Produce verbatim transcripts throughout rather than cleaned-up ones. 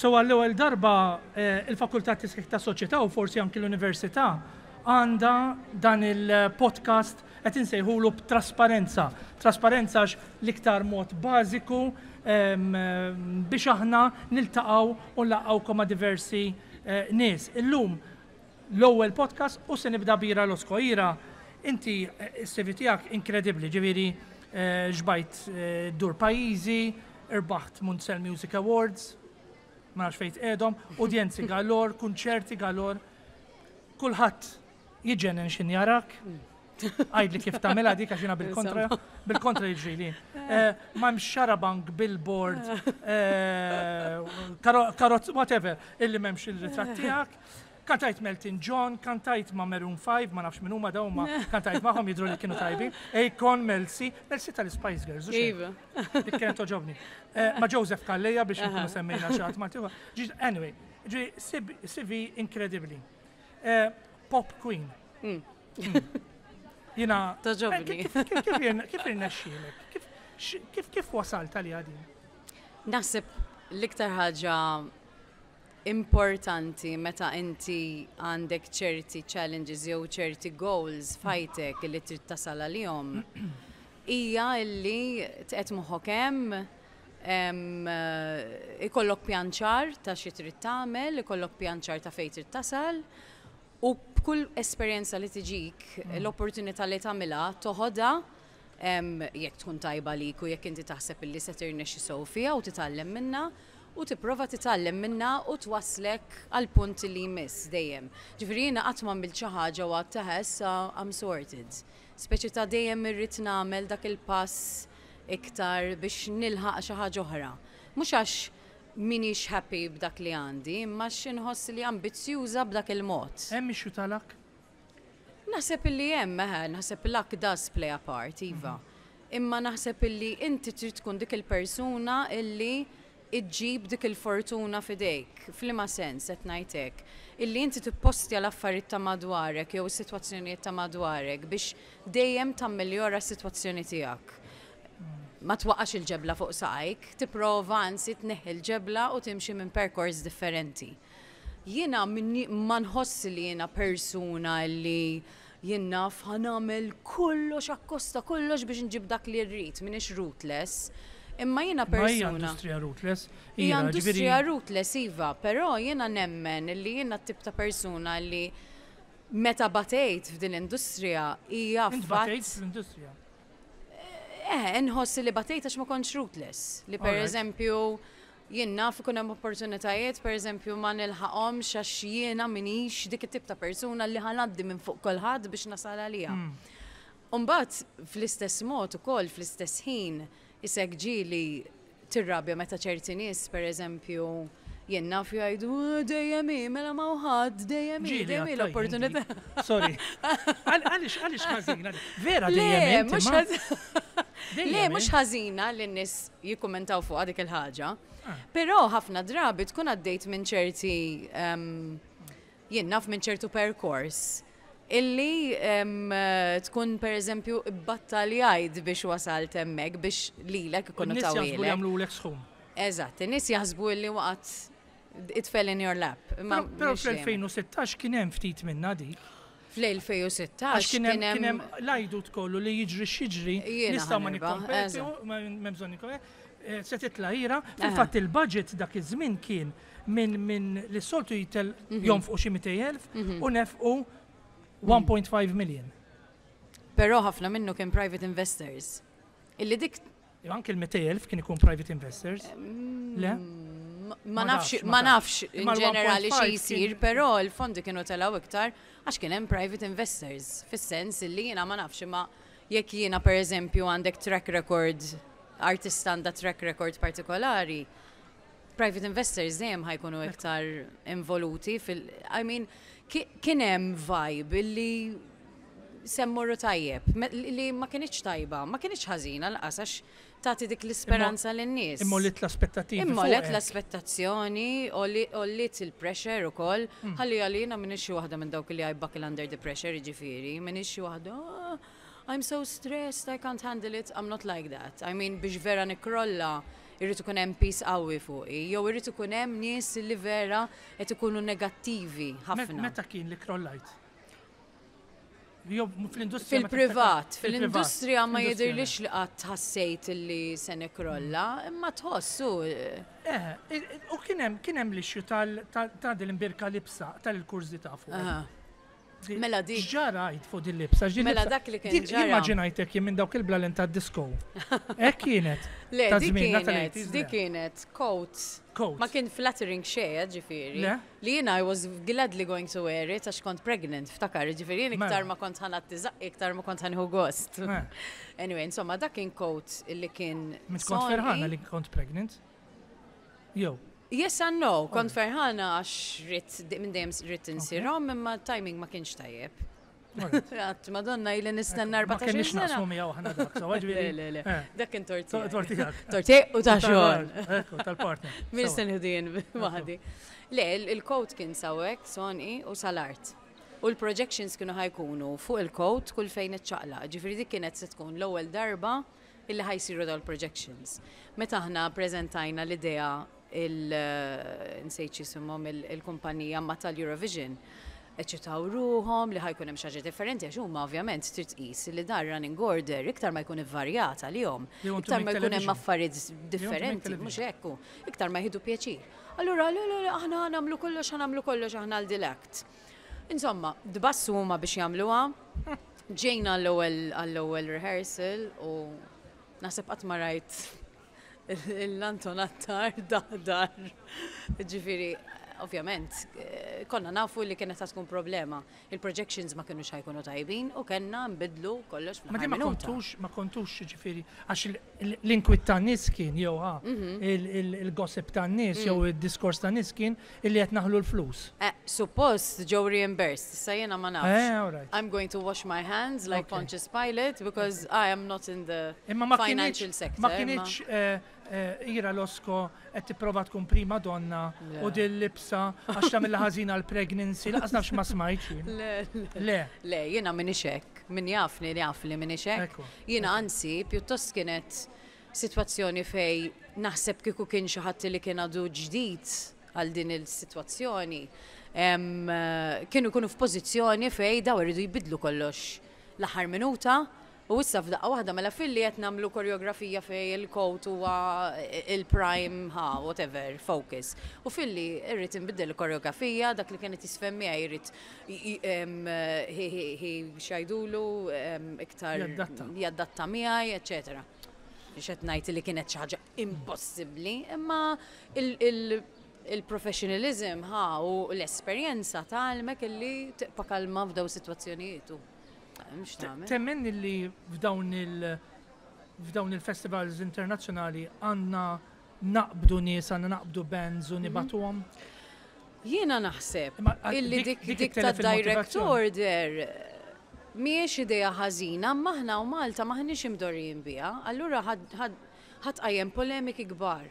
So għall-ewwel darba eh, il-Fakultà Tisħiħ ta' Soċjetà u forsi anki l-Università għandha dan il-podcast qed insejħulu b'trasparenza. Trasparenza għax l-iktar mod bażiku em, biex aħna niltaqgħu u nlaqgħukom ma' diversi eh, nies. Illum l-ewwel podcast u se nibda b'Ira Losco. Ira, inti eh, is-C V tiegħek inkredibbli, ġifieri eh, xbajt eh, dur pajjiżi, irbaħt Munsell Music Awards, ma nafx fejn tqegħdhom, udjenzi galore, kunċerti galore, kulħadd jiġġennen x'ħin jarak. Għidli kif tagħmilha dik għax jiena bil-kontra, bil-kontra jiġri li. Eh, M'hemmx xarabank, billboard, eh, karozz, whatever, illi m'hemmx il-ritratt tiegħek. Kantajt m'Elton John, kantajt ma' Maroon five, ma nafx min huma dawn ma kantajt magħhom, jidru li kienu tajbin. Akon, Mel C, Mel C tal-Spice Girls, u xejn. Iva. Dik kienet togħġobni. Eh, Ma' Joseph Calleja biex nkunu semmejna xi ħadd Malti. Ġi- Anyway, ġi C V inkredibbli. Eh, Pop Queen. Mm. Jiena. Togħġobni. Eh, Kif kif- kif irne- kif irnexxielek? Kif x- Kif kif wasalt għal din? Naħseb l-iktar ħaġa importanti meta inti għandek ċerti challenges jew ċerti goals f'ħajtek li trid tasal għalihom hija illi tqed moħħok hemm em, eh, ikollok pjan ċar ta' xi trid tagħmel, ikollok pjan ċar ta' fejn trid tasal u b'kull esperjenza li tiġik l-opportunità li tagħmilha toħodha em, jekk tkun tajba lik u jekk inti taħseb illi se tirnexxi sew fiha u titgħallem minna u tipprova titgħallem minna u twaslek għal punt li jmiss dejjem. Ġifieri jiena qatt ma għamilt xi ħaġa u għedt issa I'm sorted. Speċi ta' dejjem irrid nagħmel dak il-pass iktar biex nilħaq xi ħaġa oħra. Mhux għax minix happy b'dak li għandi, imma x'inħoss li ambizzjuża b'dak il-mod. Hemm issue ta' luck? Naħseb illi hemm, eħe, naħseb luck does play a part, iva. Imma naħseb illi inti trid tkun dik il-persuna illi iġġib dik il-fortuna f'idejk. F'liema sens qed ngħidlek? Illi inti tippostja l-affarijiet ta' madwarek jew is-sitwazzjonijiet ta' madwarek biex dejjem tammeljora s-sitwazzjoni tiegħek. Ma twaqqax il-ġebla fuq saqajk, tipprova anzi tneħħi il-ġebla u timxi minn perkors differenti. Jiena minni- ma nħoss li jiena persuna li jien naf ħa nagħmel kollox akkosta kollox biex nġib dak li rrid, minix ruthless. Imma jiena Ma hija persuna. industrija ruthless. Hija Ira, industrija ġifieri- ruthless, iva, però jiena nemmen li jiena t-tip ta' persuna li meta batejt f'din l-industrija hija Int fatt. batejt fl-industrija. Eh, nħoss li batejt għax ma kontx ruthless. Li per Alright. eżempju, jien naf ikun hemm opportunitajiet, per eżempju, ma nilħaqhomx għax jiena minix dik it-tip ta' persuna li ħa ngħaddi minn fuq kulħadd biex nasal għalija. Umbagħad, fl-istess mod ukoll, fl-istess ħin, isek ġieli tirrabja meta ċerti nies, per eżempju, jien naf jgħidu: "Oh, dejjem hi, mela ma ħadd, dejjem hi, Ġieli dejjem hi għattaj l-opportunità." inti. Sorry. Għal- Għaliex għaliex ħażina? Vera Le, dejjem inti. mhux ma- ħaż- dejjem Le, mhux int. ħażina li n-nies jikkummentaw fuq dik il-ħaġa. Ah. Però ħafna drabi tkun għaddejt minn ċerti em, jien naf minn ċertu perkors illi em, tkun per eżempju battaljajt biex wasalt hemmhekk biex lilek ikunu N-nies jaħsbu li tawhielek. jagħmlulek sħum. Eżatt, in-nies jaħsbu illi waqgħet, it fell in your lap. Imma Però però mhux dejjem. fl-elfejn u sittax kien hemm ftit minna dik. Fl-elfejn u sittax Għax kien hemm kien hemm l-għajdut kollu li jiġri x'jiġri Jiena nistgħu ma ħa nirbaħ, nikkompetu, eżatt. ma m'hemm bżonn nikkompetu. Eh, Se titla' Ira, fil-fatt il-budget dak iż-żmien kien minn min li s-soltu jitel Mhm. jonfqu xi mitejn elf u nefqu one point five million. Però ħafna minnu kien private investors. Illi dik Jew anke il-mitejn elf kien ikun private investors. Le? Ma Ma nafx, tafx, ma ma nafx tafx. in Imma ġenerali xi l-one point five jsir, kien- però l-fondi kienu telgħu iktar għax kien hemm private investors. Fis-sens illi jiena ma nafx, imma jekk jiena per eżempju għandek track record, artist għandha track record partikolari, private investors dejjem ħa jkunu iktar involuti fil- I mean, ki- kien hemm vibe illi se mmorru tajjeb, me- li ma kienx tajba, ma kienx ħażina lanqas għax tagħti dik l-isperanza lin-nies. Imma għolliet l-aspettativi. Imma għolliet fuqek. l-aspettazzjoni, għolliet il-pressure u koll, Hmm. ħalli għalina minix xi waħda minn dawk li I buckle under the pressure, ġifieri, minix xi waħda, "Oh, I'm so stressed, I can't handle it," I'm not like that. I mean, biex vera nikrolla, Irrid ikun hemm piż qawwi fuqi, jew irrid ikun hemm nies li vera qed ikunu negattivi ħafna. Meta kien li krollajt? Jew fl-industrija? Fil-privat, fil-industrija ma jidhirlix li qatt ħassejt li se nikrolla, imma tħossu. Eh, u kien hemm kien hemm l-issue ta' din l-imbierka libsa tal-kurżità fuq. Mela dik. Ġara fuq din libsa. Mela dak li kien ġara. Immaġinajtek jien minn dawk il-blalen ta' disco. Hekk kienet. Le, dik kienet, dik kienet coat. Coat. Ma kien flattering xejn, ġifieri. Li jiena I was gladly going to wear it għax kont pregnant, ftakar, ġifieri jien iktar ma kont ħa nagħti żaqqi, iktar ma kont ħa nieħu gost. Anyway, insomma, dak kien coat li kien. Mit kont ferħana li kont pregnant? Jew. Yes and no, kont ferħana għax ridt, minn dejjem ridt insir omm, imma timing ma kienx tajjeb. Għedt, madonna, ili nistenna Ma kienx erbatax-il sena. naqsmu miegħu aħna dak, so Le, le, le. Eh. Dak kien tort tiegħi. Tort tiegħek. Tort tiegħi u ta' xogħol. Ekku, tal-partner. Min Sewa. se nieħdu waħdi. Le, il-coat kien sawek, soni u sal-art. U l-projections kienu ħa jkunu fuq il-coat kull fejn iċċaqlaq. Ġifieri dik kienet se tkun l-ewwel darba illi ħa jsiru daw il-projections. Meta aħna prezentajna l-idea il nsejt jisimhom il-kumpanija ma tal-Eurovision, eċitaw ruħhom li ħa jkun hemm xi ħaġa differenti għax huma ovvjament trid tqis li dar running order iktar ma jkun ivvarjat għalihom, They want to iktar make ma jkun hemm television. affarijiet differenti, television. mhux hekk, iktar ma jieħdu pjaċir. Allura, le, le, le, aħna nagħmlu kollox, ħa nagħmlu kollox aħna għal dil-act. Insomma, dbassu huma biex jagħmluha, ġejna għall-ewwel għall-ewwel rehearsal u naħseb qatt ma rajt l-Anton Attard daħdar. Ġifieri, ovvjament, eh, konna nafu li kienet tkun problema. Il-projections ma kienux ħa jkunu tajbin u kellna nbidlu kollox Ma fl-aħħar di ma minuta. kontux, ma kontux ġifieri, għax il- il- l-inkwiet ta' nies kien, jew ha, Mhm. il- il- il-gossip ta' nies, Mm. jew il-diskors ta' nies kien illi qed naħlu l-flus. Eh, suppost ġew reimbursed, issa jiena ma nafx. Eh, all right. I'm going to wash my hands like Okay. Pontius Pilate because I am not in the Imma ma financial kienx, sector. ma kienx eh, eh, Ira Losco qed tipprova tkun prima donna Le. u din libsa għax tagħmilha ħażina l-pregnancy, lanqas nafx ma smajtx jien. Le, le. Le, Le, jiena m'iniex hekk. Min jafni li jaf li m'iniex hekk. Ekku. Jiena anzi, pjuttost kienet sitwazzjoni fej naħseb kieku kien xi ħadd li kien għadu ġdid għal din il-sitwazzjoni. em, eh, Kienu jkunu f'pożizzjoni fej daw iridu jbidlu kollox l-aħħar minuta. U issa f'daqqa waħda mela filli qed nagħmlu koreografija fej il-coat huwa il-prime ha whatever focus. U filli irrid inbiddel il-koreografija, dak li kienet jiżfen miegħi jrid x'jgħidulu iktar Jaddatta. jaddatta miegħi, eċetera. Mhux qed ngħid li kienet xi ħaġa impossibbli, imma il- il- il-professionalism ha u l-esperjenza tgħallmek illi tibqa' kalma f'daw sitwazzjonijiet u mhux tagħmel. Temmen li f'dawn il- f'dawn il-festivals internazzjonali għandna naqbdu nies, għandna naqbdu bands u Mhm. nibagħtuhom? Jiena naħseb Imma, għal- illi dik- dik dik dik ta' it-telef direct il-motivazzjoni. order mhijiex idea ħażina, imma aħna u Malta maħniex imdorrijin biha, allura ħa tqajjem polemiki kbar.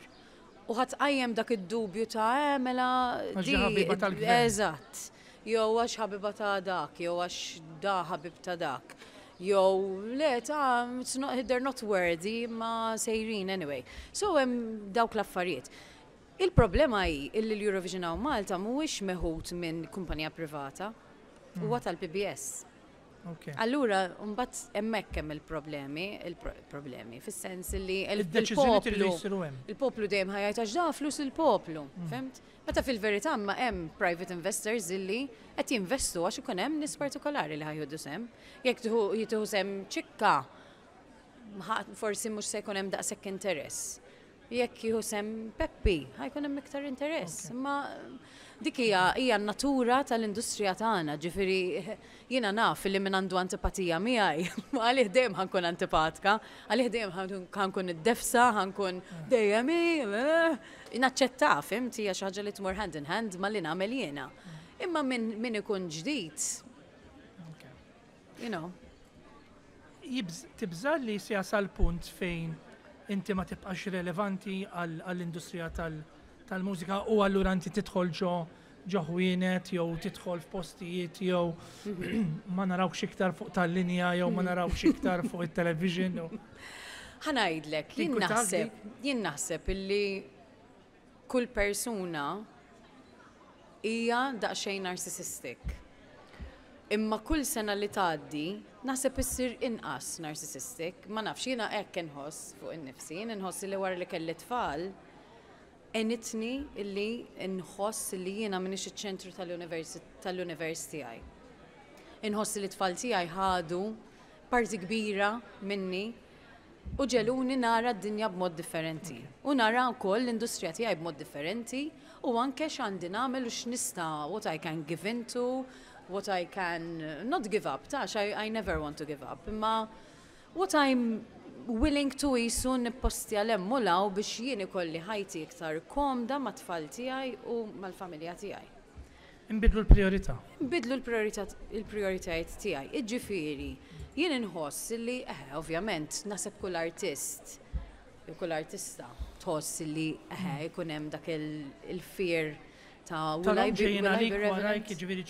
U ħa tqajjem dak id-dubju ta' eh, mela Għax di. ħabiba tal-gvern. Eżatt. Jew għax ħabiba ta' dak, jew għax da ħabib ta' dak. Jew le ta' it's not, they're not worthy ma sejrin anyway. So hemm dawk l-affarijiet. Il-problema hi illi l-Eurovision hawn Malta mhuwiex meħud minn kumpanija privata, huwa tal-P B S. Ok. Allura, mbagħad hemmhekk hemm il-problemi, il-problemi, fis-sens li il- Id-deċiżjoni tridu il-poplu jsiru hemm. il-poplu dejjem ħa jgħid għax da flus il-poplu, fhimt? Meta fil-verità ma hemm private investors illi qed jinvestu għax ikun hemm nies partikolari li ħa jieħdu sehem. Jekk tieħu jieħdu sehem ċikka, ħa- forsi mhux se jkun hemm daqshekk interess. Jekk jieħu sehem Peppi, ħa jkun hemm iktar interess. Imma dik hija hija n-natura tal-industrija tagħna, ġifieri jiena naf li min għandu antipatija miegħi, għalih dejjem ħa nkun antipatika, għalih dejjem ħa nkun id-defsa, ħa nkun dejjem i, eh, naċċetta, fhimt, hija xi ħaġa li tmur hand in hand ma li nagħmel jiena. Imma min min ikun ġdid, Ok. you know, Jibż- Tibża li se jasal punt fejn inti ma tibqax relevanti għall- għall-industrija tal- tal-mużika u allura inti tidħol ġo ġo ħwienet jew tidħol f'postijiet jew ma narawx iktar fuq tal-linja jew ma narawx iktar fuq it-television. jew- Ħa ngħidlek, jien Tinkwitak naħseb, jien naħseb illi kull persuna hija daqsxejn narcissistic. Imma kull sena li tgħaddi, naħseb issir inqas narcissistic. Ma nafx, jiena hekk inħoss fuq innifsi, jien inħoss li wara li kelli tfal, għenitni illi nħoss li jiena m'iniex iċ-ċentru tal-univers tal-univers tiegħi. Inħoss li t-tfal tiegħi ħadu parti kbira minni u ġegħluni nara d-dinja b'mod differenti. U nara wkoll l-industrija tiegħi b'mod differenti u anke x'għandi nagħmel u x'nista', what I can give into, what I can not give up, tax I, I never want to give up, imma what I'm willing to jisu nippostja 'l hemm u 'l hawn biex jien ikolli ħajti iktar komda mat-tfal tiegħi u mal-familja tiegħi. Imbidlu l-priorità. Bidlu l-prioritajiet tiegħi. Iġifieri, jien inħoss li, eh, ovvjament, naħseb kull artist, jew kull artista tħoss li, eh, ikun hemm dak il-fear ta' will I be, ġejjin will I be għalik warajk, relevant? ġifieri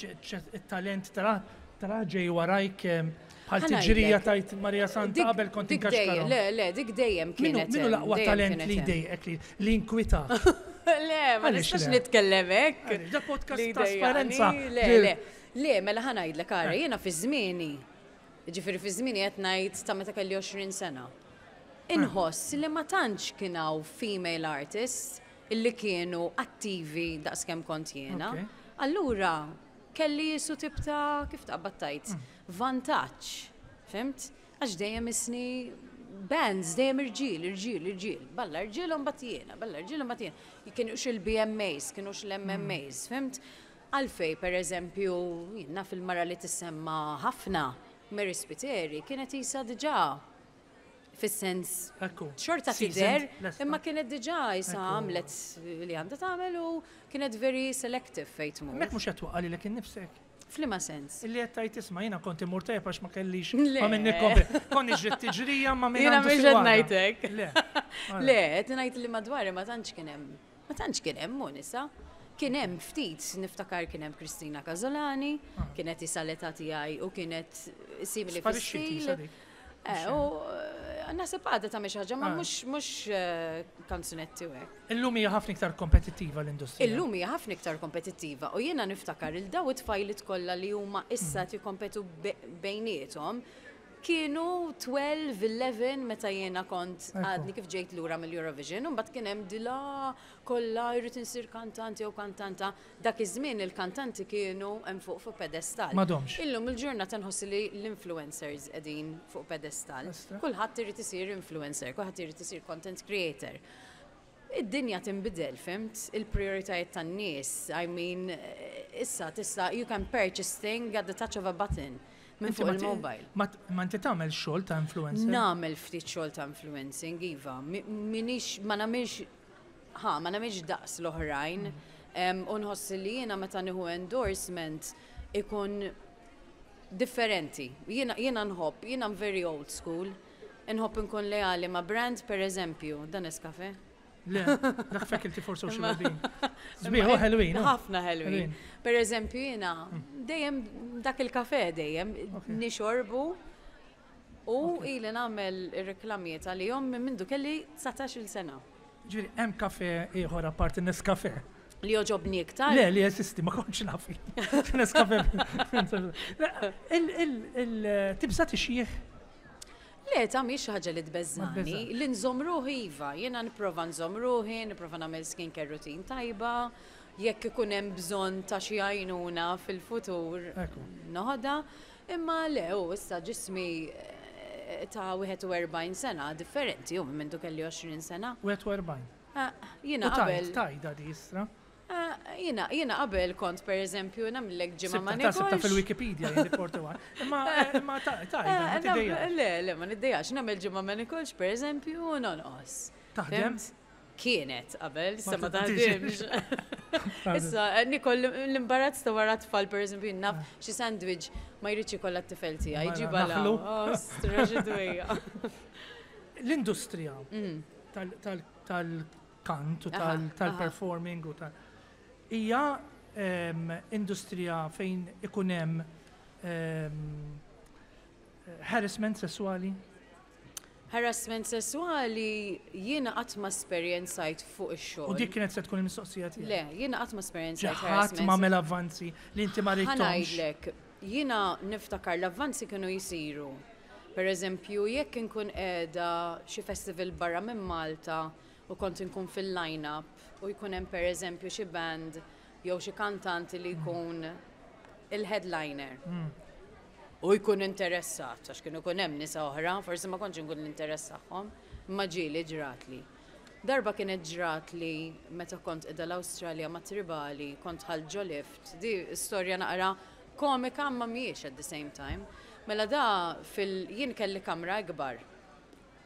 il-talent tara tara ġej warajk em, bħal Ħa tiġrija ngħidlek. tajt Marija Santa Dik- qabel kont dik dejjem, inkaxkarhom. le, le, dik dejjem Minu kienet. minu hemm, l-aqwa dejjem talent kienet li hemm. jdejqek li li inkwitak? Le, ma Għaliex nistax le? nitkellem hekk. Għaliex, da podcast Li trasparenza. jdejjaqni, Le, le, le, mela ħa ngħidlek ara, jiena fi żmieni, ġifieri fi żmieni qed ngħid ta' meta kelli għoxrin sena. Inħoss li ma tantx kien hawn female artists illi kienu attivi daqskemm kont jiena. Ok. Allura, kelli jisu tip ta' kif taqbad tajt, vantaġġ, fhimt? Għax dejjem isni bands, dejjem irġiel, irġiel, irġiel. Balla irġiel u mbagħad jiena, balla irġiel u mbagħad jiena. Kienux il-B M As, kienux l-M M As, fhimt? Għalfej, per eżempju, jiena fil-mara li tissemma ħafna, Mary Spiteri, kienet isa diġà fis-sens Ekku. xorta Seasoned, tidher, lesta. Imma kienet diġà isa Ekku. għamlet li għandha tagħmel u kienet very selective fejn tmur. Mek mhux qed twaqqa lilek innifsek. F'liema sens? Illi qed tajt isma' jiena kont immur tajjeb għax ma kellix Le. ma minni kompli. Konni ġrid tiġrija ma minn Jiena għandu mhux qed siwada. ngħidlek. Le. Le, qed ngħid li madwari ma tantx kien hemm. Ma tantx kien hemm mu nisa. Kien hemm ftit, niftakar kien hemm Kristina Casolani, kienet isa l-età tiegħi u kienet simili Sparixxiet fis-stil. isa dik. Eh, u eh, naħseb għadha ta' xi ħaġa, ma Ah. mhux mhux eh, kanzunetti u hekk. Illum hija ħafna iktar kompetittiva l-industrija. Illum hija ħafna iktar kompetittiva u jiena niftakar il daw it-tfajlit kollha li huma issa jikkompetu be- bejniethom kienu tnax, għaxra meta jiena kont Ekku. għadni kif ġejt lura mill-Eurovision, u mbagħad kien hemm dila kollha jrid insir kantanti jew kantanta. Dak iż-żmien il-kantanti kienu hemm fuq fuq pedestal. M'għadhomx. Illum il-ġurnata nħoss li l-influencers qegħdin fuq pedestal. Estra. Kulħadd irid isir influencer, kulħadd irid isir content creator. Id-dinja tinbidel, fhimt? Il-prioritajiet tan-nies, I mean, eh, issa tista' you can purchase thing at the touch of a button minn Inti fuq ma ti- il-mobile. Ma ma inti tagħmel xogħol ta' influencer. Nagħmel ftit xogħol ta' influencing, iva. Mi- Minix, ma nagħmilx, ha, ma nagħmilx daqs l-oħrajn. Em, U nħoss li jiena meta nieħu endorsement ikun differenti. Jiena jiena nħobb, jiena very old school. Nħobb nkun leali ma' brand, per eżempju, dan Nescafe. Le, dak Faculty for Social Wellbeing. Sbieħ, ħelwin. oh. Ħafna ħelwin. Ħelwin. Per eżempju, jiena dejjem dak il-kafe dejjem Ok. nixorbu u ili nagħmel ir-reklamijiet għalihom minn mindu kelli dsatax-il sena. Ġifieri, hemm kafe ieħor apparti Nescafe. Li joġobni iktar. Le, li jeżisti, ma kontx naf. Nescafe. Il-tibża tixjieħ? Le, ta' mhix xi ħaġa li tbeżżani. tbeżżak. Li nżomm ruħi iva, jiena nipprova nżomm ruħi, nipprova nagħmel skincare routine tajba, jekk ikun hemm bżonn ta' xi għajnuna fil-futur Ekku. noħodha, imma le, u issa ġismi eh, ta' wieħed u erbgħin sena differenti, u minn mindu kelli għoxrin sena. wieħed u erbgħin. Ah, jiena U tajt, qabel, tajda di istra. ah, jiena jiena qabel kont per eżempju nagħmlek ġimgħa ma Sibta ta' sibta nikolx. fil-Wikipedia jien portu għan. Imma imma ta- tajda, ma Eh, nam- tidejjax. Le, le, ma niddejjax, nagħmel ġimgħa ma nikolx per eżempju u nonqos. Taħdem? Fhimt? Kienet qabel, issa ma taħdimx. taħdimx. Issa, eh, nikol l-imbarazz ta' wara tfal, per eżempju, naf xi sandwich ma jridx ikollha t-tifel tiegħi, Mela, jġibha la. naħlu. Oh, straġidwija. L-industrija Mm. tal- tal- tal-kant u Aha, tal- aha. tal-performing u tal- Hija em, industrija fejn ikun hemm em, harassment sessuali? Harassment sessuali jiena qatt ma esperjenzajt fuq ix-xogħol. U dik kienet se tkun il-mistoqsija tiegħi. Le, jiena qatt ma esperjenzajt Ħadd harassment. m'għamel avvanzi li inti ma Ħa ridthomx. Ngħidlek, jiena niftakar l-avvanzi kienu jisiru. Per eżempju, jekk inkun qiegħda xi festival barra minn Malta u kont inkun fil-line-up u jkun hemm, per eżempju, xi band jew xi kantanti li jkun il-headliner. U jkun interessat, għax kienu jkun hemm nisa oħra, forsi ma kontx inkun l-interess tagħhom, imma ġieli ġratli. Darba kienet ġratli meta kont qiegħda l-Awstralja ma' Tribali, kont dħalt ġo lift, di storja naqra komika ma mhijiex at the same time. Mela da fil jien kelli kamra ikbar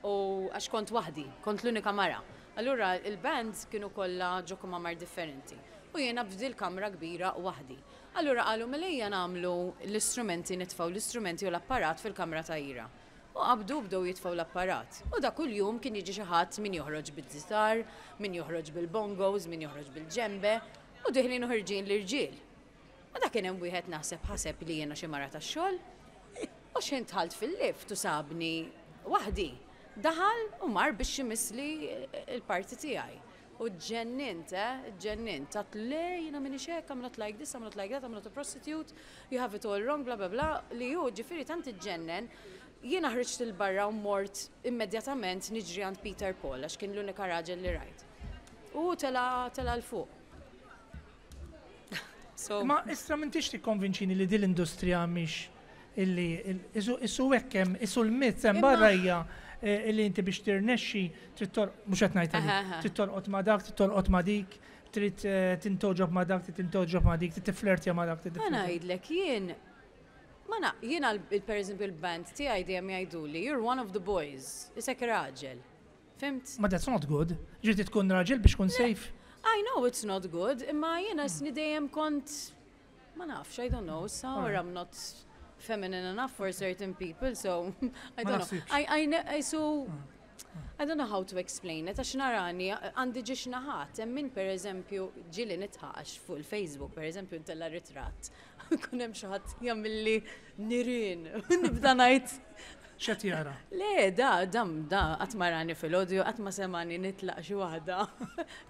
u għax kont waħdi, kont l-unika mara. Allura il-bands kienu kollha ġo kmamar differenti. U jiena f'dil kamra kbira waħdi. Allura qalu, "Mela ejja nagħmlu l-istrumenti, nitfgħu l-istrumenti u l-apparat fil-kamra ta' Ira." U qabdu bdew jitfgħu l-apparat. U da kull jum kien jiġi xi ħadd, min joħroġ bil-gitar, min joħroġ bil-bongos, min joħroġ bil-djembe, u deħlin u ħerġin l-irġiel. U da kien hemm wieħed, naħseb ħaseb li jiena xi mara tax-xogħol. U x'ħin dħalt fil-lift u sabni waħdi. Daħal u mar biex jmissli il-parti tiegħi. U ġennint, eh, ġennint. Għedt, "Le, jiena m'iniex hekk, I'm not like this, I'm not like that, I'm not a prostitute, you have it all wrong, bla bla bla." Li ju, ġifieri tant iġġennen, jiena ħriġt 'il barra u mort immedjatament niġri għand Peter Paul, għax kien l-unika raġel li rajt. U tela tela 'l fuq. So, Ma istra m'intix tikkonvinċini li din l-industrija mhix illi il- isu isu hekk hemm isu l-myth hemm Imma- barra hija eh, illi inti biex tirnexxi trid tor mhux qed ngħid Aha, għalik, aha. trid torqod ma' dak, trid torqod ma' dik, trid eh, tintgħoġob ma' dak, trid tintgħoġob ma' dik, trid tiflirtja ma' dak, trid Ħa tiflirtja. Ngħidlek, jien ma na, jiena l- per eżempju il-band tiegħi dejjem jgħiduli, "You're one of the boys, isek raġel." Fhimt? Ma that's not good. Ġifieri tkun raġel biex tkun safe. I know it's not good, imma jiena sni dejjem kont, ma nafx, I don't know, so or I'm not feminine enough for certain people, so I Ma don't know. naħsibx. I, I, ne- I, so, I don't know how to explain it, għax narani, għandi ġiex naħat, hemm min, per eżempju, ġieli nidħaq fuq il-Facebook, per eżempju, ntella ritratt. Kun hemm xi ħadd jagħmilli nirien, nibda ngħid, X'qed jara? "Le, da, dam, da, qatt ma rani fil-audio, qatt ma semani nitlaq xi waħda."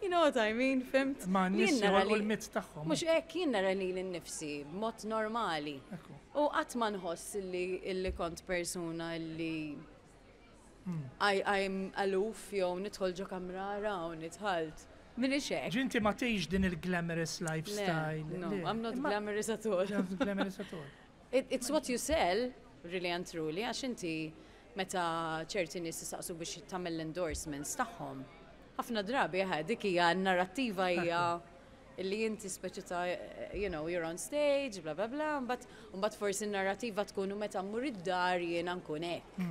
You know what I mean, fhimt? Ma n-nies Jien nara joħolqu li- l-myth tagħhom. Mhux hekk, jien nara lili nnifsi b'mod normali. Ekku. U qatt ma nħoss illi, illi kont persuna illi I, I'm aloof jew nidħol ġo kamrara u nidħalt. M'iniex hekk. Ġinti ma tgħix din il-glamorous Le, lifestyle. no, Le. I'm not Imma- glamorous at all. You're not glamorous at all. It, it's what you sell, really and truly, għax inti meta ċerti nies jistaqsu biex tagħmel l-endorsements tagħhom. Ħafna drabi eħe, dik hija n-narrattiva, hija illi inti speċi ta' you know, you're on stage, bla bla bla, mbagħad mbagħad forsi n-narrativa tkun u meta mmur id-dar jiena nkun hekk.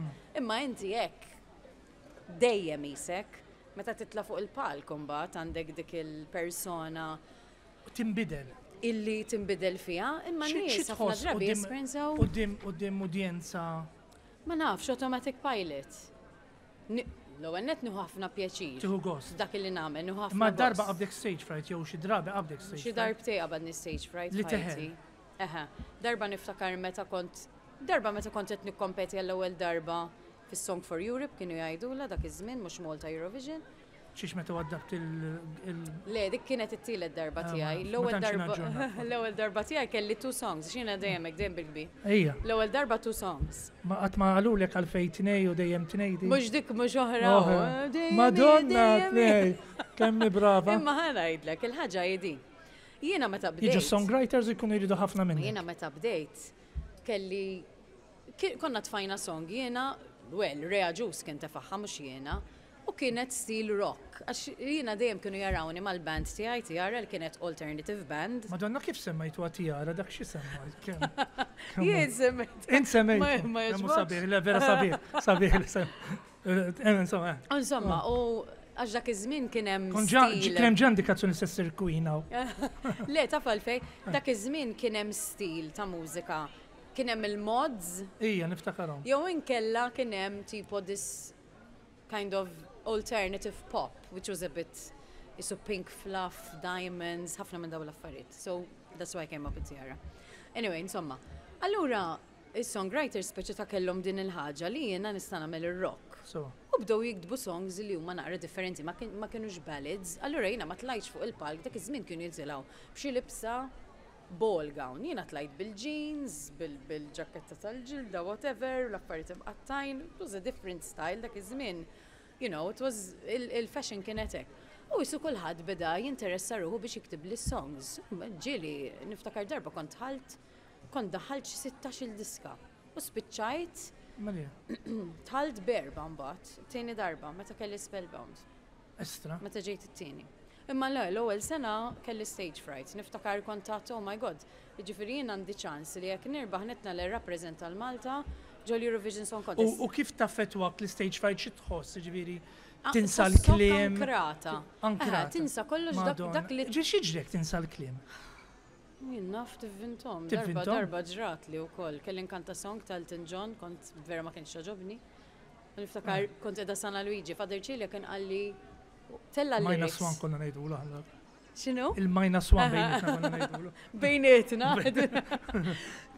Imma inti hekk dejjem isek, meta titla' fuq il-palk mbagħad għandek dik il-persona Timbidel. illi tinbidel fiha, imma Xi- n-nies xi ħafna tħoss drabi quddiem- jesperjenzaw Quddiem quddiem udjenza. Ma nafx, automatic pilot. Ni- L-ewwel net nieħu ħafna pjaċir. Tieħu gost. Dak li nagħmel, nieħu ħafna Ma darba gost. qabdek stage fright jew xi drabi qabdek stage Xi fright. darbtej qabadni stage fright Li f'ħajti. teħel. Eħe. Darba niftakar meta kont darba meta kont qed nikkompeti għall-ewwel darba fis-Song for Europe kienu jgħidula dak iż-żmien, mhux Malta Eurovision. Xiex meta waddabt il- il- Le, dik kienet it-tielet darba Ah, ma tiegħi. nafx, ma L-ewwel tantx darba naġġorna. L-ewwel darba tiegħi kelli two songs, x'jiena dejjem hekk, dejjem bil-kbir. Ejja, L-ewwel darba two songs. ma qatt ma qalulek għalfejn tnej u dejjem tnej di. Mhux dik, mhux oħra. Oħra. Oh, dejjem, Madonna, dejjem. tnej, kemm brava. Imma ħa ngħidlek, il-ħaġa hi di. Jiena meta bdejt. Jiġu songwriters ikunu jridu ħafna minni. Jiena meta bdejt kelli ki- konna tfajna song jiena, well, Rea Juice kien tefagħha, mhux jiena, u kienet stil rock. Għax jiena dejjem kienu jarawni mal-band tiegħi, Tiara, li kienet alternative band. Madonna, kif semmejtu Tiara, dak xi semmajt? Kemm? kemm- Jien semmejt. Int semmejt. Ma- ma Kemm hu jogħġbokx? sabiħ, le vera sabiħ, sabiħ li sem. Eh, Insomma, eh. Insomma, u għax dak iż-żmien kien hemm Kon ġa stil. kien hemm ġa indikazzjoni se ssir queen hawn. Le, taf għalfej, dak iż-żmien kien hemm stil ta' mużika. Kien hemm il-mods, Ija, niftakarhom. jew inkella kien hemm tipo this kind of alternative pop, which was a bit isu Pink Fluff, Diamonds, ħafna minn dawn l-affarijiet. So that's why I came up with Tiara. Anyway, insomma. Allura, is-songwriters speċi ta' kellhom din il-ħaġa li jiena nista' nagħmel ir-rock. So, U bdew jiktbu songs li huma naqra differenti, ma kien- ma kienux ballads. Allura jiena ma tlajtx fuq il-palk, dak iż-żmien kienu jitilgħu b'xi libsa ball gown. Jiena tlajt bil-jeans, bil- bil-ġaketta tal-ġilda, whatever, l-affarijiet imqattajn. It was a different style dak iż-żmien. You know, it was il- il-fashion kienet hekk. U jisu kulħadd beda jinteressa ruħu biex jiktib li songs. Ġieli, niftakar darba kont ħalt, kont daħalt xi sittax-il diska. U spiċċajt, Marija, dħalt b'erba' mbagħad, tieni darba, meta kelli Spellbound, estra. meta ġejt it-tieni. Imma le, l-ewwel sena kelli stage fright. Niftakar kont għedt, "Oh my God, jiġifieri jien għandi ċans li jekk nirbaħ nitla' nirrappreżenta lil Malta ġol Eurovision Song Contest." U u kif taffettwak l-stage fright, xi tħoss, ġifieri, Ah, tinsa tħossok l-kliem? Ankrata. Ankrata. Aha, tinsa kollox dak, Madonna. dak li Ġi x'jiġrek tinsa l-kliem? Jien naf tivvintom. Darba Tivvintom? Darba ġrat li wkoll. Kelli nkanta song ta' Elton John, kont vera ma kienx jogħġobni. Niftakar kont qiegħda San Luigi, Father Cilia kien qalli tella Minus lyrics. one konna ngħidu aħna. X'inhu? Il-minus one bejnietna konna ngħidulu. Bejnietna.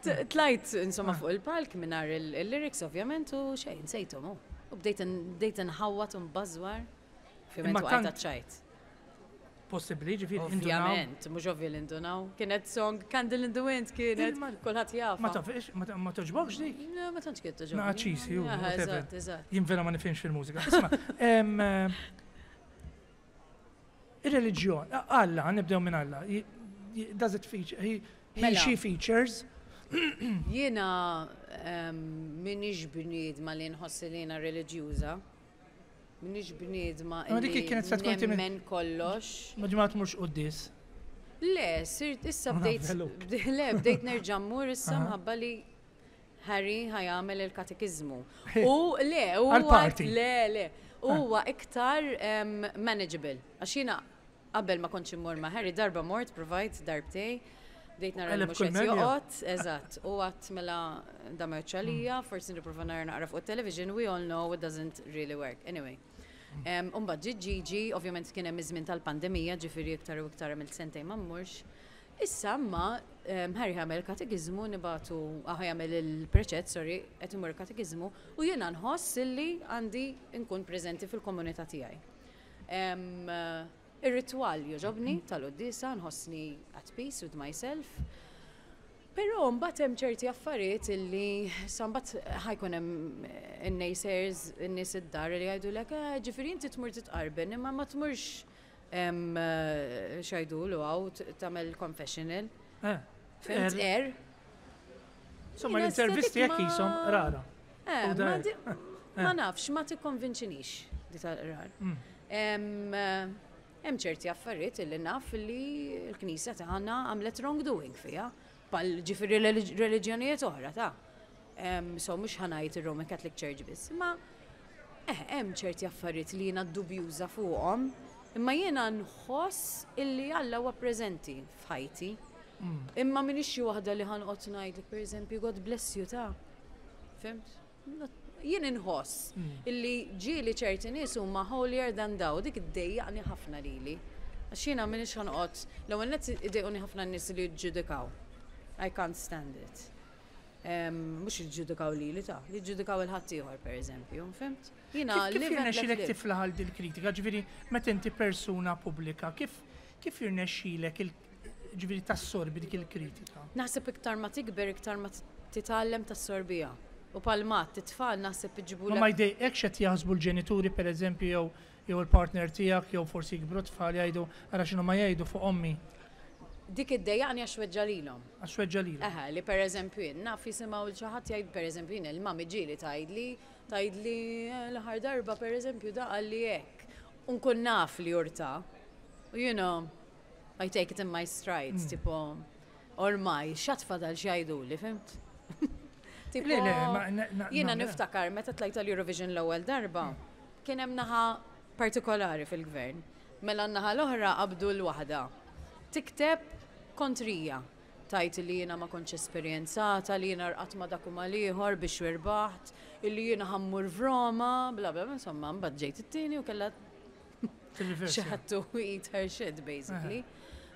T- Tlajt insomma fuq il-palk mingħajr il-lyrics ovvjament u xejn, nsejthom. U U bdejt bdejt nħawwat u nbażwar. Ovvjament Imma waqajt tant- ċajt. Possibbli, ġifieri, indunaw. Ovvjament, mhux ovvja li indunaw. Kienet song Candle in the Wind kienet, Il-ma- kulħadd jafha. Ma tafx, ma ta- ma toġbokx dik? No, ma tantx kienet toġobni. Naqa cheesy, u Aha, whatever. Eżatt, eżatt. Jien vera ma nifhimx fil-mużika. Isma', em, eh, ir-reliġjon, Alla, nibdew minn Alla. Y- y- Does it feature, he, he Mela. she features? Jiena em, minix bniedma li nħossi li jiena reliġjuża. Minix bniedma Ma dik li kienet se tkun timin- nemmen kollox. Ma ġimgħa tmurx quddies. Le, sirt issa Ma bdejt, nafheluk. bde- le, bdejt nerġa' mmur issa Aha. mħabba li Harry ħa jagħmel il-katekizmu. U le, huwa Għal-party. Le, le, huwa iktar em, manageable. Għax jiena qabel ma kontx immur ma' Harry, darba mort, provajt darbtej, bdejt nara li Qeleb mhux kull qed medja. joqgħod, eżatt, u għedt mela da ma għalija, forsi nipprova nara naqra fuq television, we all know it doesn't really work. Anyway. Um, Umbagħad ġi Gigi, ovvjament kien hemm iż-żmien tal-pandemija, ġifieri iktar u iktar għamilt sentejn ma mmurx. Issa ma um, Harry jagħmel katekiżmu nibagħtu, ah, jagħmel il-preċett, sorry, qed imur katekiżmu u jiena nħoss illi għandi nkun preżenti fil-komunità tiegħi. Um, uh, Ir-ritwal joġobni tal-quddiesa, nħossni at peace with myself. Però mbagħad hemm ċerti affarijiet illi sa mbagħad ħa jkun hemm in-naysayers, in-nies id-dar li jgħidulek, "Eh, ġifieri inti tmur titqarben imma ma tmurx em, eh, x'jgħidulu hawn t- tagħmel confessional." Eh, Fhimt Er. er. Insomma, Jiena l-intervisti estetik jekk jisom ma- rara. Eh, U ma dar. di- ma nafx, ma tikkonvinċinix di tal-qrar. Mm. Em, eh, Hemm ċerti affarijiet illi naf li l-Knisja tagħna għamlet wrongdoing fiha, bħal ġifieri religi- reliġjonijiet oħra ta' Em, So mhux ħa ngħid ir-Roman Catholic Church biss, imma eh, hemm ċerti affarijiet li jiena dubjuża fuqhom, imma jiena nħoss illi Alla huwa preżenti f'ħajti. Mm. Imma minix xi waħda li ħa noqgħod ngħidlek, pereżempju, "God bless you" ta'. Fhimt? Not- Jien inħoss Mm. illi ġieli ċerti nies huma holier than thou, dik iddejjaqni ħafna lili. Għax jiena minix ħa noqgħod, l-ewwel nett idejquni ħafna nies li jiġġudikaw. I can't stand it. Em, Mhux jiġġudikaw lili ta' jiġġudikaw il-ħaddieħor pereżempju, fhimt? Jiena Kif kif live and let jirnexxilek live. tiflaħ għal dil-kritika? Ġifieri, meta inti persuna pubblika, kif kif jirnexxilek il ġifieri tassorbi dik il-kritika? Naħseb iktar ma tikber, iktar ma titgħallem tassorbiha. U palmat, t-tfal naħseb iġibu Ma ma jdejqekx qed jaħsbu l-ġenituri pereżempju jew jew il-partner tiegħek jew forsi jikbru tfal jgħidu, "Ara x'inhu ma jgħidu fuq ommi"? Dik iddejjaqni għax weġġa' lilhom. Għax weġġa' lilhom. Eħe, li per eżempju jien, naf jisimgħu 'l xi ħadd jgħid, per eżempju jien il-mami ġieli tgħidli, tgħidli eh, l-aħħar darba per eżempju da qalli hekk. U nkun naf li jurta. U you know, I take it in my strides, Mm. tipo, ormai, x'għad fadal x'jgħiduli, fhimt? Tipo, Le, le, ma- na- na- jiena na- niftakar meta tlajt tal-Eurovision l-ewwel darba, kien hemm naħa partikolari fil-gvern. Mela n-naħa l-oħra qabdu l-waħda. Tikteb kontrija. Tgħid li jiena ma kontx esperjenzata, li jiena rqadt ma' dak u mal-ieħor biex wirbaħt, illi jiena ħa mmur f'Roma, bla bla, insomma, mbagħad ġejt it-tieni u kellha Tirriversi. she had to eat her shit, basically.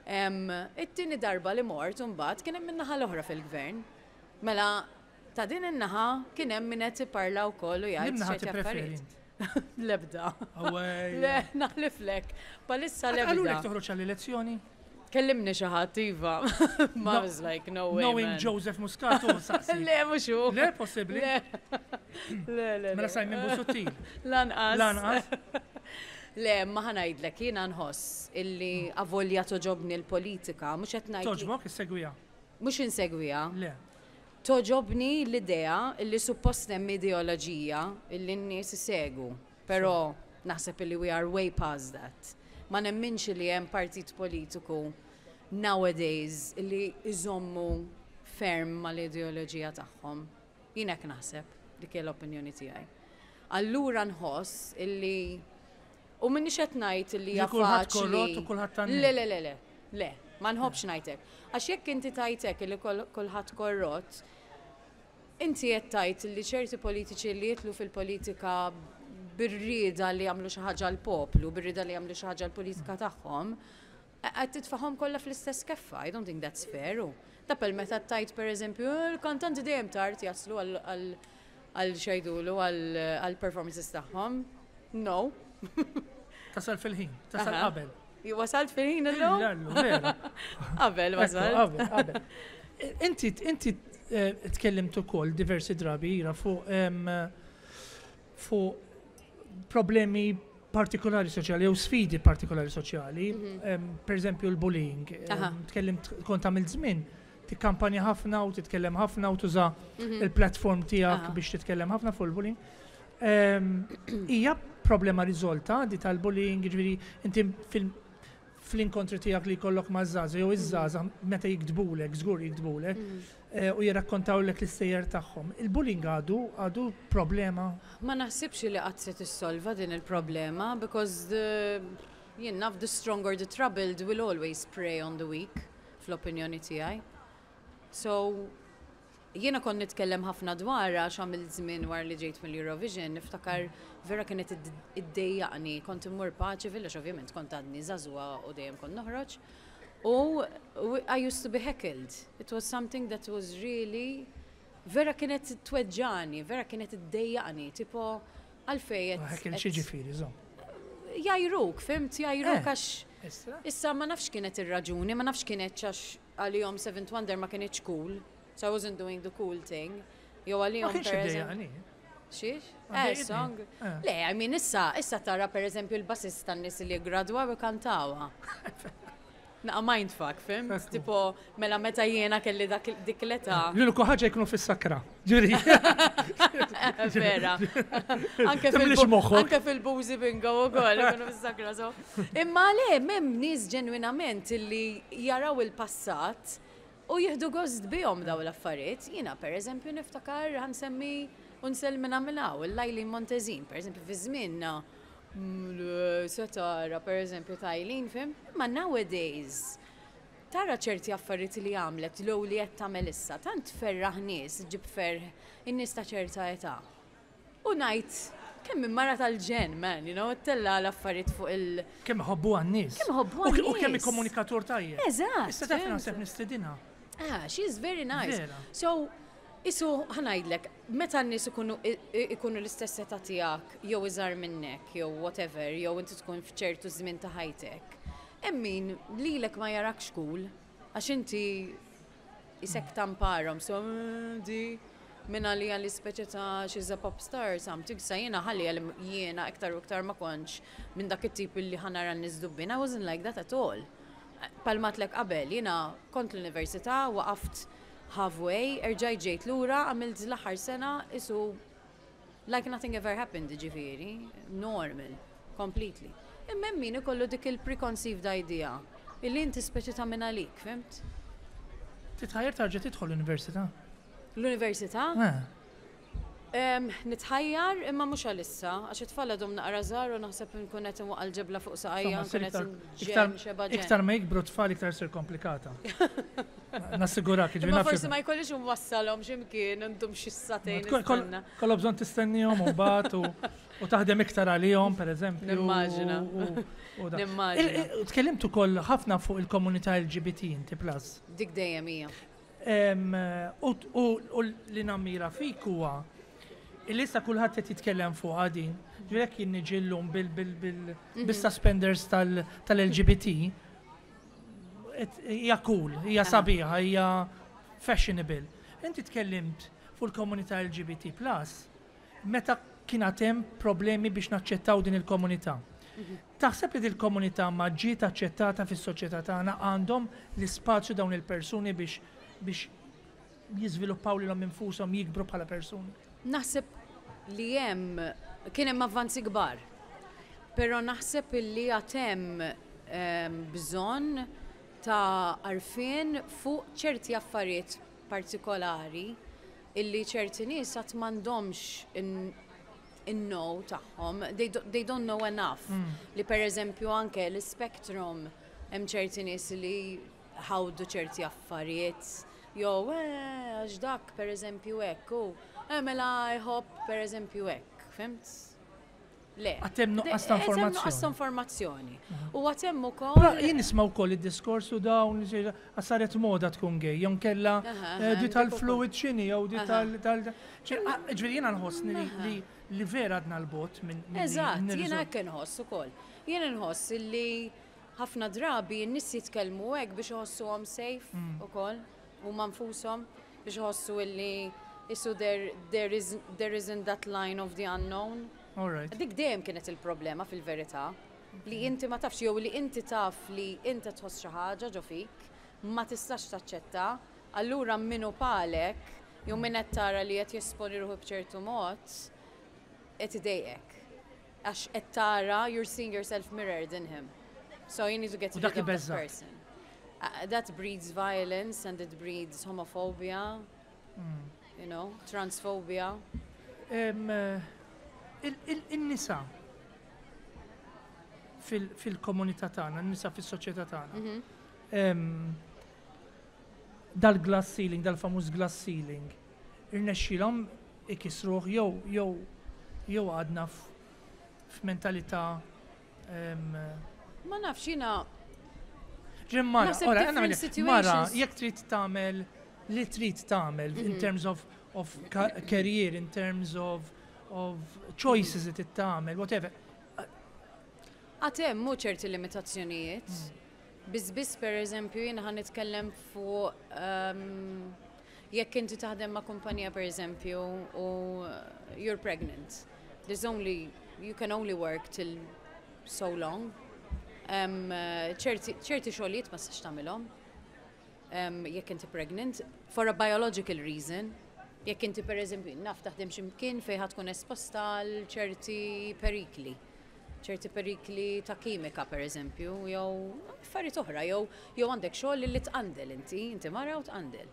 Em, It-tieni darba li mort, mbagħad kien hemm min-naħa l-oħra fil-gvern. Mela, ta' din in-naħa kien hemm min qed iparla wkoll u jgħid Liem naħa ċerti tippreferi affarijiet. int? Lebda. Awej. Le, naħliflek. Bħalissa Għalulek lebda. toħroġ għall-elezzjoni? Kellimni xi ħadd, iva. Ma No- was like, no way, Knowing man. Joseph Muscat u saqsi. Le, mhux hu. Le, possibli. Le, le, le. Mela le. Simon Busuttil. Lanqas. Lanqas. Le, ma ħa ngħidlek, jiena nħoss illi avolja togħġobni l-politika, mhux qed ngħid. Togħġbok issegwiha. Mhux insegwiha. Le. Togħġobni l-idea illi suppost hemm ideoloġija illi n-nies isegwu, però naħseb illi we are way past that. Ma nemminx li hemm partit politiku nowadays illi iżommu ferm mal-ideoloġija tagħhom. Jien hekk naħseb, dik hija l-opinjoni tiegħi. Allura nħoss illi u m'iniex qed ngħid illi Li hija kulħadd faċli. korrott u kulħadd tan-nies. Le, le, le, le, le, ma nħobbx ngħidlek. Għax jekk inti tgħidlek illi kol- kulħadd korrott, inti qed tgħid li ċerti politiċi li jidħlu fil-politika bir-rieda li jagħmlu xi ħaġa l-poplu, bir-rieda li jagħmlu xi ħaġa l-politika tagħhom, qed titfagħhom kollha fl-istess keffa. I don't think that's fair. U. Tapel meta tgħid pereżempju, "Eh, il-kantanti dejjem tard jaslu għal għal għal x'jgħidulu għal performances tagħhom. No. Tasal fil-ħin, tasal Aha. qabel. Wasalt fil-ħin illum? Lallu, vera. Qabel Ekku, wasalt. Qabel, qabel. Inti, inti eh, tkellimt ukoll diversi drabi ira fuq em, fuq problemi partikolari soċjali jew sfidi partikolari soċjali, em, per eżempju l-bullying. Em, Aha. Tkellimt kont għamilt żmien tikkampanja ħafna u titkellem ħafna u tuża il-platform tiegħek Aha. biex titkellem ħafna fuq il-bullying. Em, Hija problema riżolta di tal-bullying, ġifieri inti fil- fl-inkontri tiegħek li jkollok ma' żgħażagħ jew iż-żgħażagħ meta jiktbulek, żgur jiktbulek, eh, u jirrakkontawlek l-istejjer tagħhom. Il-bullying għadu għadu problema. Ma naħsibx li qatt se tissolva din il-problema because the jien naf the strong or the troubled will always prey on the weak fl-opinjoni tiegħi. So jiena kont nitkellem ħafna dwar għax għamilt żmien wara li ġejt mill-Eurovision, niftakar vera kienet id- iddejjaqni, kont immur Paceville, għax ovvjament kont għadni żagħżugħa u dejjem kont noħroġ. U u I used to be heckled. It was something that was really vera kienet tweġġani, vera kienet iddejjaqni, tipo għalfej qed- Heckle qed- xi ġifieri, żomm. Jgħajruk, fhimt, jgħajruk Eh. għax Issa? Issa ma nafx kienet ir-raġuni, ma nafx kienet għax għalihom Seventh Wonder ma kienx cool. So I wasn't doing the cool thing. Jew Ma għalihom kienx per eżempju. iddejjaqni. Xiex? Ma Eh, dejjaqni. song. Eh. Le, I mean, issa, issa tara per eżempju il-bassist tan-nies li gradwaw kantawha. Naqa mindfuck, fhimt? Ekku. Tipo, mela meta jiena kelli dak dik l-età. L-uniku ħaġa jkunu fis-sakra. Ġifieri. Vera. Anke Timlix fil- moħħok. Anke fil-boozy bingo u koll, ikunu fis-sakra so. Imma le, hemm nies ġenwinament illi jaraw il-passat u jieħdu gost bihom daw l-affarijiet. Jiena, per eżempju, niftakar ħa nsemmi unsellmilha minn hawn, il-Eileen Montesin, per eżempju, fi żmienna. mm, le, Se tara, per eżempju, ta' Eileen, fhimt? Imma nowadays, tara ċerti affarijiet li għamlet l li qed tagħmel issa, tant ferraħ nies, ġib ferħ in-nies ta' ċerta età. U ngħid kemm minn mara tal-ġenn, man, you know, tella l-affarijiet fuq il- Kemm ħobbu għan-nies. Kemm ħobbu U ke- U kemm għan-nies. komunikatur tajjeb. Eżatt. Issa taf fhimt? naħseb nistedinha. Ah, she's very nice. Vera. So, isu ħa ngħidlek, meta n-nies ikunu i- i- ikunu l-istess età tiegħek, jew iżgħar minnek, jew whatever, jew inti tkun f'ċertu żmien ta' ħajtek. Hemm min lilek ma jarakx cool, għax inti isek tamparom, so mm, di minn għalija li speċi ta' she's a pop star or something, sa jiena ħalli għal jiena iktar u iktar ma kontx minn dak it-tip li ħa nara n-nies dubbin, I wasn't like that at all. Bħalma għedtlek qabel, jiena kont l-università, waqaft halfway, erġajt ġejt lura, għamilt l-aħħar sena, isu like nothing ever happened, ġifieri, normal, completely. Imma hemm min ikollu dik il-preconceived idea, illi inti speċi ta' minn għalik, fhimt? Titħajjer tarġa' tidħol l-università. L-università, Eh. Em, nitħajjar imma mhux għalissa, għax it-tfal għadhom naqra żgħar u naħseb nkun qed inwaqqa' l-ġebla fuq saqajja, Insomma, nkun qed iktar- nġenn xeba ġenn. Iktar ma jikbru tfal iktar sir komplikata. Nassigurak, ġifieri Imma naf forsi xi- ma jkollix nwassalhom x'imkien intum xi sagħtejn Kol- kol- nistenna. Kollha bżonn tistennihom u mbagħad u u taħdem iktar għalihom, per eżempju. Nimmaġina. u- u da. Nimmaġina. Il- il- Tkellimt ukoll ħafna fuq il-komunità L G B T inti plus. Dik dejjem hija. Em, U u- u li nammira fik huwa Il-lista kulħadd qed jitkellem fuq din. Ġifieri jekk jien niġi llum bil-suspenders tal-L G B T, hija cool, hija sabiħa, hija fashionable. Inti tkellimt fuq il-komunità L G B T plus meta kien hemm problemi biex naċċettaw din il-komunità. Taħseb li il-komunità ma ġiet aċċettata fis-soċjetà tagħna? Għandhom l-ispazju dawn il-persuni biex biex jiżviluppaw lilhom infushom, jikbru bħala persuni? Naħseb li hemm kien hemm avvanzi kbar. Però naħseb li għad hemm ehm, bżonn ta' għarfien fuq ċerti affarijiet partikolari illi ċerti nies għad m'għandhomx in-know tagħhom, they, do, they don't know enough. Mm. Li per eżempju anke l-spectrum, hemm ċerti nies li ħawdu ċerti affarijiet, jew eh, għax dak per eżempju hekk, u eh, mela jħobb per eżempju hekk, fhimt? Le. Għad hemm nuqqas ta' informazzjoni. Nuqqas ta' informazzjoni. U għad hemm ukoll. Però jien nisma' wkoll id-diskorsu dawn saret moda tkun gay, jew kella eh, di tal-fluid x'inhi, jew di tal. Ġifieri jiena nħossni li li vera għadna 'l bogħod minn. Eżatt, jiena hekk inħoss ukoll. Jiena nħoss li ħafna drabi n-nies jitkellmu hekk biex iħossuhom safe mm. ukoll, huma nfushom, biex iħossu illi isu there, there, is, there isn't that line of the unknown. Alright. Dik dejjem kienet il-problema fil-verità. Li inti ma tafx, jew li inti taf li inti tħoss xi ħaġa ġo fik, ma tistax taċċetta, allura minnu palek, jew min qed tara li qed jesponi ruħu b'ċertu mod, qed idejqek. Għax qed tara, you're seeing yourself mirrored in him. So you need to get rid of that person. Uh, that breeds violence and it breeds homophobia, mm. you know, transphobia. Um, Il-nisa fil-komunità tagħna, n-nisa fis-soċjetà tagħna. Mhm. Dal-glass ceiling, dal-famuż glass ceiling, irnexxilhom ikisruh jew jew jew għadna f'mentalità Ma nafx jiena. Ġimmara, ora, mara, jekk trid tagħmel li trid tagħmel in mhm. terms of of career, in terms of of choices li trid tagħmel, whatever. Għad hemm mhu ċerti limitazzjonijiet. Biss biss per eżempju jiena ħa nitkellem fuq um, jekk inti taħdem ma' kumpanija, per eżempju, u you're pregnant. There's only, you can only work till so long. Um, ċerti ċerti xogħlijiet ma tistax tagħmilhom Um, jekk inti pregnant, for a biological reason. Jekk inti, per eżempju, naf, taħdem x'imkien fejn ħa tkun esposta għal ċerti perikli. ċerti perikli ta' kimika, per eżempju, jew affarijiet oħra, jew jew għandek xogħol li tqandel inti, inti mara u tqandel.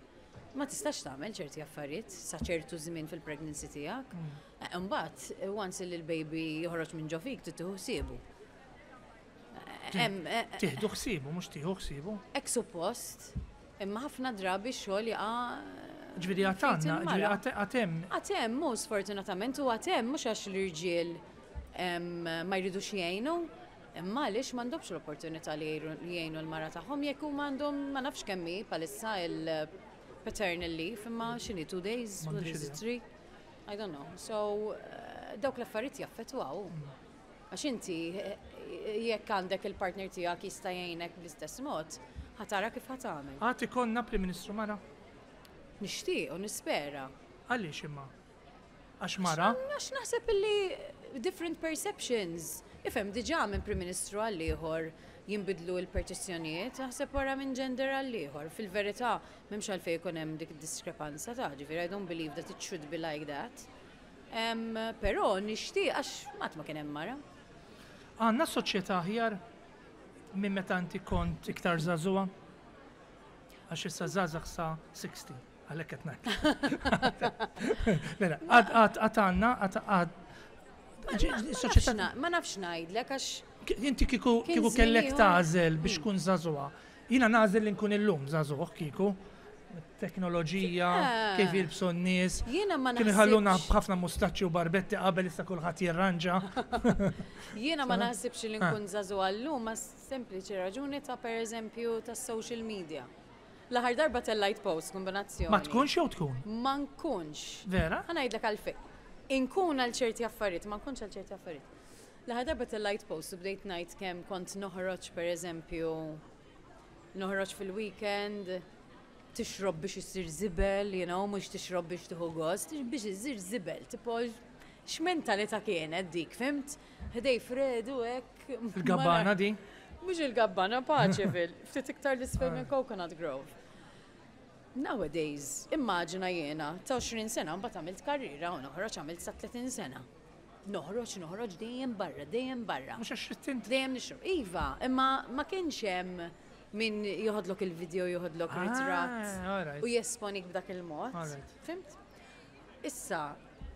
Ma tistax tagħmel ċerti affarijiet sa ċertu żmien fil-pregnancy tiegħek. Eh, Imbagħad, once li l-baby joħroġ minn ġo fik, trid tieħu ħsiebu. Hemm, eh, Tieħdu ħsiebu, mhux tieħu ħsiebu. Hekk suppost, imma ħafna drabi x-xogħol jaqa' Ġifieri fejt għad għandna, il-mara. ġifieri għad hemm. Għad hemm, mhux sfortunatament, u għad hemm mhux għax l-irġiel em, ma jridux jgħinu, imma għaliex m'għandhomx l-opportunità li jgħinu jgħinu l-mara tagħhom jekk huma għandhom, ma nafx kemm hi bħalissa il-paternal leave, imma x'inhi, two days, what M'għandix is it, idea. three? I don't know. So, eh, dawk l-affarijiet jaffettwaw. Għax inti, eh, jekk għandek il-partner tiegħek jista' jgħinek bl-istess mod, ħa tara kif ħa tagħmel. Għad ikollna Prim Ministru mara? Nixtieq u nispera. Għaliex imma? Għax mara? Għax naħseb illi different perceptions. Ifhem, diġà minn Prim Ministru għal ieħor jinbidlu l-perċezzjonijiet, naħseb wara minn gender għal ieħor. Fil-verità, m'hemmx għalfejn ikun hemm dik diskrepanza ta' ġifieri I don't believe that it should be like that. Um, però nixtieq għax qatt ma kien hemm mara. Għandna soċjetà aħjar minn meta inti kont iktar żagħżugħa? Għax issa żgħażagħ sa sittaxin, għalhekk qed ngħid. Le, le, għad għad għad għandna għad għad Ma soċjetà nafx na- Ma nafx ngħidlek għax Inti kieku kien kieku żmien kellek ieħor. tagħżel biex tkun żagħżugħa. Jiena nagħżel li nkun illum żagħżugħ kieku. Teknoloġija, Ah. kif jilbsu n-nies. Jiena ma Kienu jħalluna naħsibx. b'ħafna mustaċċi u barbetti qabel, issa kulħadd jirranġa. Jiena ma naħsibx li Ah. nkun żagħżugħa llum ma sempliċi raġuni ta', per eżempju, ta' social media. L-aħħar darba tellajt post kombinazzjoni. Ma tkunx jew tkun? Ma nkunx. Vera? Ħa ngħidlek għalfejn. Inkun għal ċerti affarijiet, ma nkunx għal ċerti affarijiet. L-aħħar darba tellajt post u bdejt ngħid kemm kont noħroġ, per eżempju, noħroġ fil-weekend, tixrob biex issir zibel, you know, mhux tixrob biex tieħu gost, biex issir zibel, tipo x'mentalità kienet dik, fhimt? Ħdejn Fredu hekk. Il-Gabbana di? Mhux il-Gabbana, Paceville, ftit iktar 'l isfel minn Coconut Grove. Nowadays, immaġina jiena ta' għoxrin sena, mbagħad għamilt karriera u noħroġ, għamilt sa tletin sena. Noħroġ, noħroġ dejjem barra, dejjem barra. Mhux għax tint. Dejjem nixrob. Iva, imma ma kienx hemm min joħodlok il-video, joħodlok Ah, ritratt alright. u jesponik b'dak il-mod. Alright. Fhimt? Issa,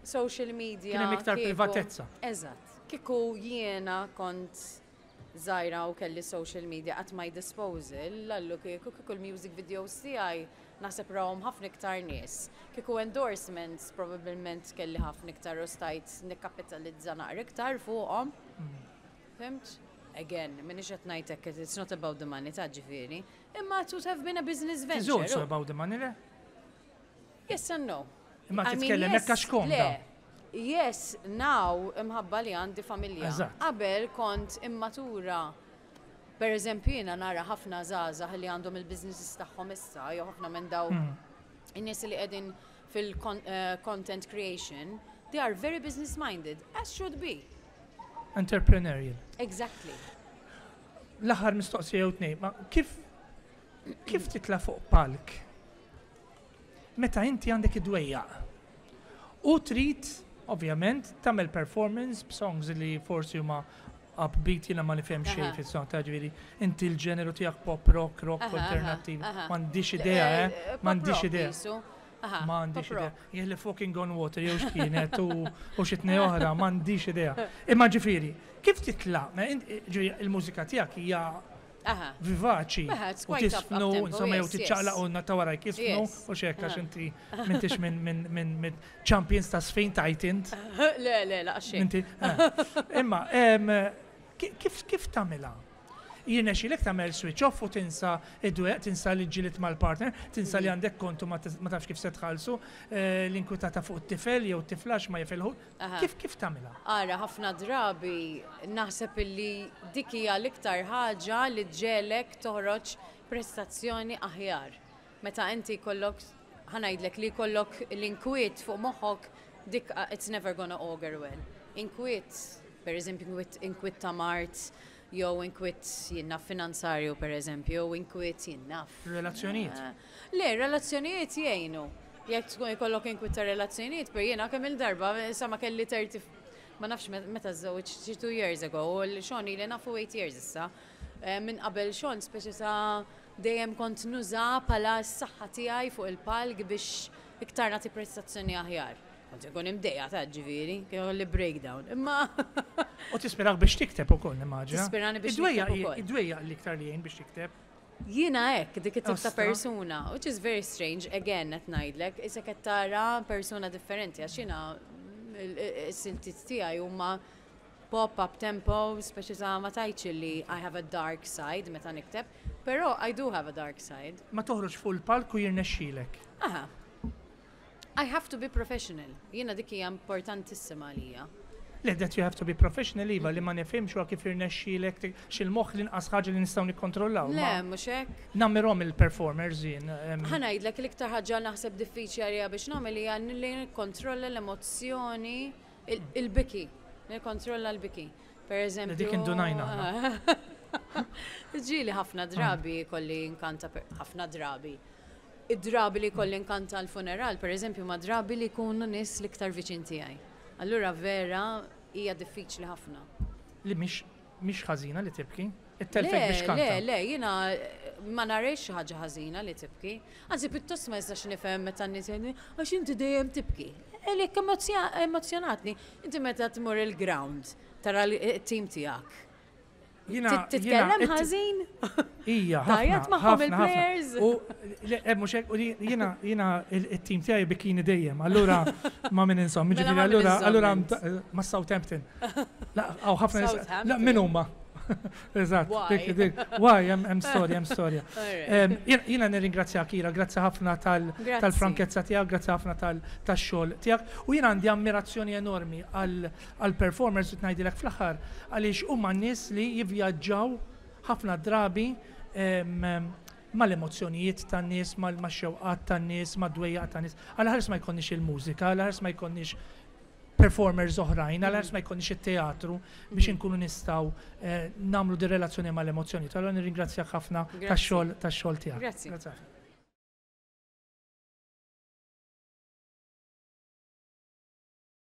social media. Kien hemm iktar kieku- privatezza. Eżatt. Kieku jiena kont żgħira u kelli social media at my disposal, lallu kieku kieku l-music videos tiegħi naħseb rawhom ħafna iktar nies. Kieku endorsements probabbilment kelli ħafna iktar u stajt nikkapitalizza naqra iktar fuqhom. Fhimt? Again, m'iniex qed ngħidlek it's not about the money ta' ġifieri, imma it would have been a business It's venture. also about the money, le? Yes and no. Imma I mean, titkellem yes, hekk għax komda. Le. Yes, now imħabba li għandi familja. Eżatt. Qabel kont immatura. Per eżempju, jiena nara ħafna żgħażagħ li għandhom il-businesses tagħhom issa, jew ħafna minn daw Hmm. in-nies li qegħdin fil-content creation, they are very business minded, as should be. Entrepreneurial. Exactly. L-aħħar mistoqsija jew tnejn, ma kif kif titla' fuq palk meta inti għandek id-dwejjaq u trid ovvjament tagħmel performance b'songs li forsi huma upbeat, jiena ma nifhem xejn Aha. fis-song ta' ġifieri inti l-ġeneru tiegħek pop rock, rock Aha, alternattiv. aha. M'għandix idea, eh? Eh, pop M'għandix rock idea. qisu. Aha, M'għandix pop idea. rock. Jien li Fucking on Water jew x'kienet u u xi tnej oħra, m'għandix idea. Imma ġifieri, kif titla' Ma int- ġifieri, il-mużika tiegħek hija Aha. vivaċi Aha, it's u quite up- tisfnu, up-tempo, insomma, jew yes, tiċċaqlaq yes. u ta' warajk jisfnu Yes. u xek għax Aha. inti m'intix minn minn minn minn champions ta' sfin tajt int. Le, le, la' xejn. Inti, eh. Imma, em, ki- kif kif tagħmilha? Jirnexxilek tagħmel switch off u tinsa id-dwejjaq, tinsa li ġġilidt mal-partner, tinsa li għandek kontu ma tis- ma tafx kif se tħallsu, eh, l-inkwitata fuq it-tifel jew tiflax ma jifilħu. Aha. Kif kif tagħmilha? Ara, ħafna drabi naħseb illi dik hija l-iktar ħaġa li ġġiegħlek toħroġ prestazzjoni aħjar. Meta inti jkollok, ħa ngħidlek, li jkollok l-inkwiet fuq moħħok, dik uh, it's never gonna augur well. Inkwiet, per eżempju, inkwiet, inkwiet ta' mard, jew inkwiet jiena finanzarju, per eżempju, jew inkwiet jiena. Relazzjonijiet. Eh, Le, relazzjonijiet jgħinu. Jekk tkun jkollok inkwiet ta' relazzjonijiet, per jiena kemm il-darba, sa ma kelli thirty, ma nafx met- meta żżewġ, xi two years ago, u l-Sean ili nafu eight years issa. Eh, Minn qabel Sean, speċi ta' dejjem kont nuża pala s-saħħa tiegħi fuq il-palk biex iktar nagħti prestazzjoni aħjar. Kont ikun imdejqa ta' ġifieri, kien li breakdown. Imma U tispirak biex tikteb ukoll, nimmaġina. Tispirani biex Id-dwejjaq nikteb ukoll. Id-dwejjaq l-iktar li jgħin biex tikteb. Jiena hekk, dik it-tip ta' Ostra. persuna, which is very strange, again, qed ngħidlek, issa qed tara persuna differenti, għax jiena is-siltiet tiegħi huma pop up tempo, speċi ta' ma tgħidx li I have a dark side meta nikteb, però I do have a dark side. Ma toħroġ fuq il-palk u jirnexxilek. Aha. I have to be professional. Jiena dik hija importantissima għalija. Le, that you have to be professional, iva, li ma nifhimx huwa kif jirnexxilek xil-moħħ l-inqas ħaġa li nistgħu nikkontrollaw. Le, Ma mhux hekk. Nammirhom il-performers jien. em, Ħa ngħidlek, l-iktar ħaġa naħseb diffiċli għalija biex nagħmel hija li nikkontrolla l-emozzjoni, il- il-biki, nikkontrolla l-biki. Per eżempju. Dik indunajna aħna. Ġieli ħafna drabi kolli nkanta, per- ħafna drabi. Id-drabi li kolli nkanta l-funeral, per eżempju, ma drabi li jkunu nies l-iktar viċin tiegħi. Allura vera hija diffiċli ħafna. Li mhix mhix ħażina li tibki. It-telfek biex Le, kanta. le, le, jiena eh, ma narejx xi ħaġa ħażina li tibki. Anzi, pjuttost ma jistax nifhem meta n-nies jgħidu, "Għax inti dejjem tibki." Għalek emozjonatni. Inti meta tmur il-ground, tara l-team tiegħek. Jiena Titkellem jiena- ħażin? Ija, Tgħajjat ħafna, magħhom ħafna, ħafna. il-players? U le, eh, mhux hekk, u li- jiena jiena il-team tiegħi bikini dejjem, allura ma min insom, Mela ġifieri ma' min allura insom allura int. ma Southampton. La, għaw ħafna nies- La, Southampton. min huma? Eżatt. Why? Dik- dik- Why, hemm hemm storja, hemm storja. Alright. Em, Jiena jiena nirringrazzjak, Ira, grazzi ħafna tal- Grazzi. tal-frankezza tiegħek, grazzi ħafna tal- tax-xogħol tiegħek. U jiena għandi ammirazzjoni enormi għal għal performers u ngħidilek fl-aħħar, għaliex huma nies li jivvjaġġaw ħafna drabi em, em, mal-emozzjonijiet tan-nies, mal-xewqat tan-nies, mad-dwejjaq tan-nies. Għal ħares ma jkollniex il-mużika, għal ħares ma jkollniex performers oħrajn, għal ħares ma jkollniex it-teatru biex inkunu nistgħu eh, nagħmlu di relazzjoni mal-emozzjoni. Allora nirringrazzjak ħafna Grazzi. tax-xogħol tax-xogħol tiegħek. Grazzi. Grazzi ħafna.